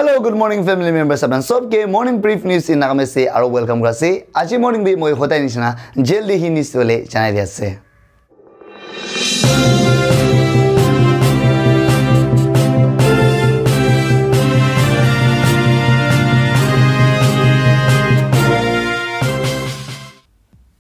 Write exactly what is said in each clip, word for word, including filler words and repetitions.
Hello, good morning, family members. Apnan sob ke morning brief news in Nagamese aro welcome kura ase. Aji morning bi moi hodai nishina jaldi hi news tole janai di ase.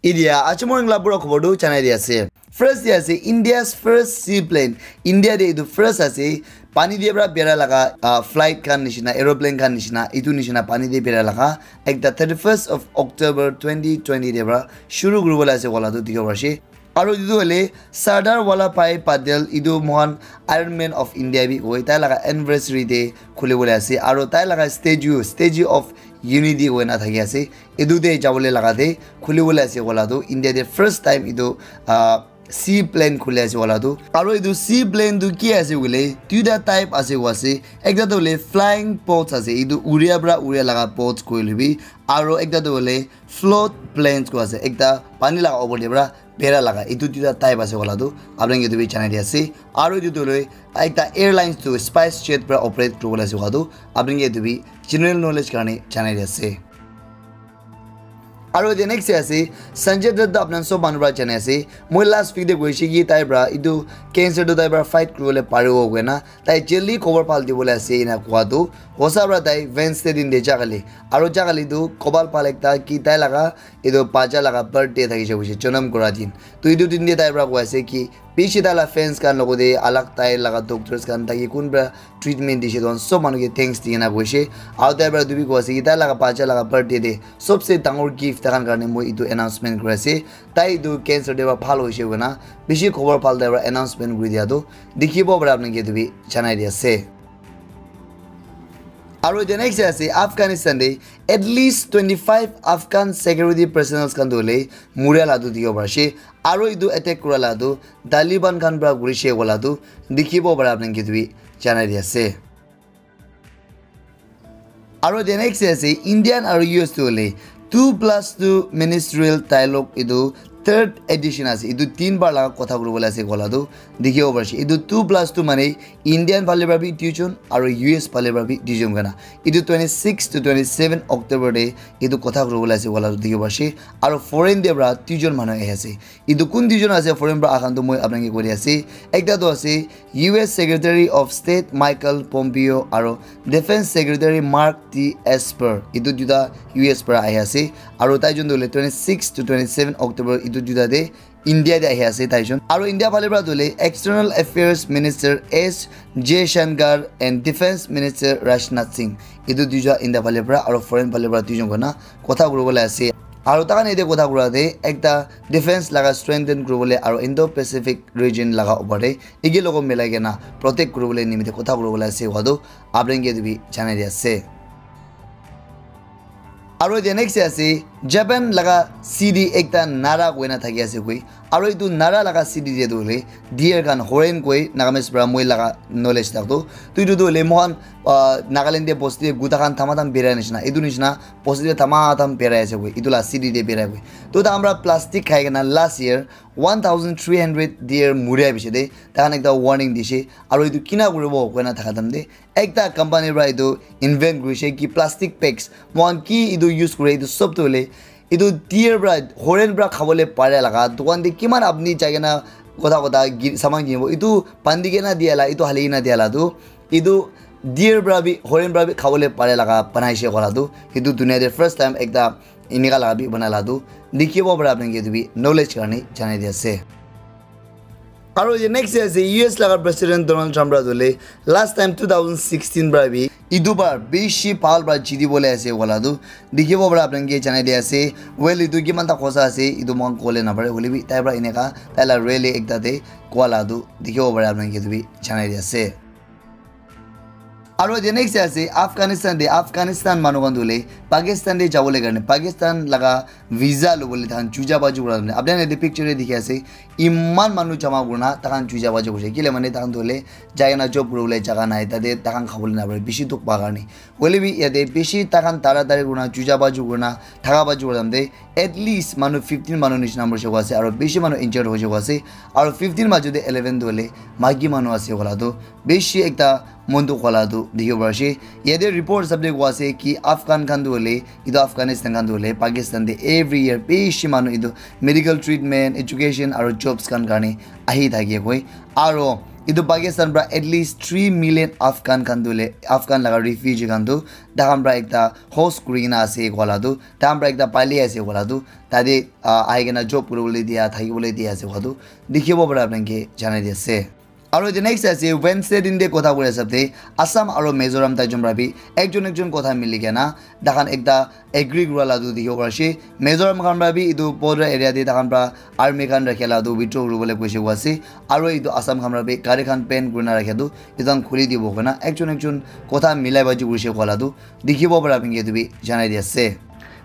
Idia, aji morning la pura khobor tu janai di ase. First di ase, India's first seaplane. India de etu first ase. Pani de pra bera laga, ah, flight khan nishina, aeroplane khan nishina, etu nishina pani de bera laga. Ekta thirty-first of October twenty twenty de pra shuru kuri bola ase wala tu dikhibo pari ase. Aro etu tu hoile Sardar Vallabhbhai Patel, etu mohan Iron Man of India bi koi, tai laga anniversary de khuli bola ase. Aro tai laga statue, Statue of Unity koi na thaki ase. Etu de jabole laga de khuli bola ase wala tu India de first time etu, ah, sea plane khuli ase wala tu. Aro etu sea plane tu ki ase koile, duita type ase koa ase. Ekta tu hoile flying boats ase, etu uria pra uria laga boats koile bi. Aro ekta tu hoile float planes koa ase, ekta pani laga opor de pra bera laga. Etu duita type ase wala tu apni khan ke etu bi janai di ase. Aro etu tu hoile ekta airlines tu SpiceJet pra operate kuri bola ase wala tu apni khan ke etu bi general knowledge karne janai di ase. Aro the next ase, Sanjay Dutt tu apnan sob manu pra jane ase. Moi last week de koise ki tai pra etu cancer tu tai pra fight kuribole paribo koina. Tai jaldi khobor bhal dibole ase ena koa tu. Hosa pra tai Wednesday din de jakali. Aro jakali tu khobor bhal ekta ki tai laga etu bacha laga birthday thakise koise, janam kura din. Tu etu din de tai pra koi ase ki bishi tai la fans khan logote alag tai laga doctors khan taki kun pra treatment dise, tu sob manu ke thanks di kena koise. Aro tai pra etu bi koi ase ki tai laga bacha laga birthday de sobse dangor gift tai khan karne moi etu announcement kuri ase. Tai etu cancer de pra bhal hoise koina bishi khobor bhal tai pra announcement kuri dia tu dikhibo para apni ke etu bi janai di ase. Aro the next ase Afghanistan de at least twenty-five Afghan security personnel khan tu hoile muria la tu dikhibo pari ase. Aro etu attack kura la tu Taliban khan pra kurise wala tu dikhibo para apni ke etu bi janai di ase. Aro the next ase Indian aro U S tu hoile two plus two ministerial dialogue etu third edition ase. Etu tin bar laga kotha kuribole ase koa la tu dikhibo pari ase. Etu two plus two mane Indian phale pra bi duijon aro U S phale pra bi duijon kena. Etu twenty-six to twenty-seven October de etu kotha kuribole ase koa la tu dikhibo pari ase. Aro foreign de pra duijon manu ahi ase. Etu kun duijon ase foreign pra ahan tu moi apni ke koi di ase. Ekta tu ase U S Secretary of State Michael Pompeo aro Defense Secretary Mark T Esper. Etu duita U S pra ahi ase. Aro tai jon tu hoile twenty-six to twenty-seven October etu duita de India de ahi ase tai jon. Aro India phale pra tu hoile External Affairs Minister S Jaishankar and Defense Minister Rajnath Singh. Etu duita India phale pra aro foreign phale pra duijon kena kotha kuribole ase. Aro tai khan ete kotha kura de ekta defense laga strengthen kuribole aro Indo-Pacific region laga upor de eke logo milai kena protect kuribole nimite kotha kuribole ase koa tu apni ke etu bi janai di ase. Aro the next ase Japan laga city ekta Nara koina thaki ase koi. Aro etu Nara laga city de tu hoile deer khan horen koi Nagamese pra moi laga knowledge tak tu. Tu etu tu hoile mohan, ah, Nagaland de bosti de guta khan thama tham berai nishina. Etu nishina bosti de thama tham berai ase koi. Etu la city de berai koi. Tu tai khan pra plastic khai kena last year one thousand three hundred deer muria bishi de tai khan ekta warning dise. Aro etu kina kuribo koina thaka time de ekta company pra etu invent kurise ki plastic bags mohan ki etu use kure etu sob tu hoile etu deer pra horen pra khabole pare laga dukan de kiman apni jai kena kotha kotha gi- saman kinibo etu bandi kena dia la etu hali kena dia la tu etu deer pra bi horen pra bi khabole pare laga banaise koa la tu etu dunia de first time ekta enika laga bi banai la tu dikhibo para apni ke etu bi knowledge karne janai di ase. Aro ye next ase U S laga President Donald Trump para tu hoile last time two thousand sixteen para bi etu bar bishi bhal para jiti bole ase wala tu dikhibo para apni ke janai di ase. Well, etu kiman ta khosa ase etu moikhan kole napare hoile bi tai para eneka tai la rally ekta te koa la tu dikhibo para apni ke etu bi janai di ase. Aro the next ase Afghanistan de, Afghanistan manu khan tu hoile Pakistan de jabole karne, Pakistan laga visa lobole tahan juja baju kura apni khan yate picture de dikhi ase, iman manu jama kurina tahan juja baju kurise, kile mane tahan tu hoile jai kena job kuribole jaga nai, tate tahan khabole napare, bishi dukh pa karne. Hoile bi yate bishi tahan tara tari kurina juja baju kurina thaka baju kura time de at least manu fifteen manu nishina morise koa ase, aro bishi manu injured hoise koa ase, aro fifteen maju de eleven tu hoile maiki manu ase koa la tu bishi ekta mon dukh wala tu dikhibo pari ase. Yate report hisab te koa ase ki Afghan khan tu hoile, etu Afghanistan khan tu hoile, Pakistan te every year bishi manu etu medical treatment, education aru jobs khan karne ahi thake koi. Aru etu Pakistan pra at least three million Afghan khan tu hoile, Afghan laga refugee khan tu takhan pra ekta host kuri kena ase koa la tu, takhan pra ekta pali ase koa la tu, tate, ah, ahi kena job kuribole dia, thakibole dia ase koa tu dikhibo para apni ke janai di ase. Aru the next ase Wednesday din de kotha kuri hisab te Assam aru Mizoram tai jun pra bi ekjon ekjon kotha mili kena takhan ekta agree kura la tu dikhibo pari ase. Mizoram khan pra bi etu border area te takhan pra army khan rakhe la tu withdraw kuribole koise koa ase. Aru etu Assam khan pra bi gari khan ban kurina rakhe tu etu khan khuli dibo koina ekjon ekjon kotha milai baji kurise koa la tu dikhibo para apni ke etu bi janai di ase.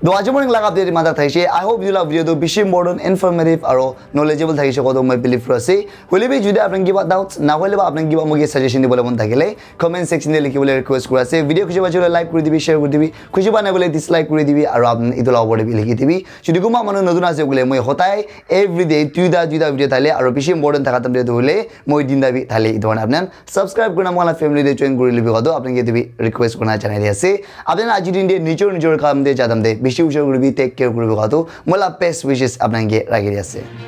To aji morning laga update mata thaise. I hope you la video tu bishi important, informative aru knowledgeable thaise koa tu moi believe kuri ase. Hoile bi jodi apni kiba doubts na hoile ba apni kiba moke suggestion dibole mon thakile comment section te likhibole request kuri ase. Video khushi paise koile like kuri dibi, share kuri dibi, khushi pa nai koile dislike kuri dibi aru apni etu la opor te bi likhi dibi. Jodi kunba manu notun ase koile moi hotai everyday duita duita video thale aru bishi important thaka time te tu hoile moi tinta bi thale etu karne apni khan subscribe kurina moi la family te join kuri libi koa tu apni ke etu bi request kurina janai di ase. Apni khan aji din te nijor nijor kam te ja time te bishi hushar kuribi, take care kuribi koa tu moi la best wishes apni khan ke rakhi di ase.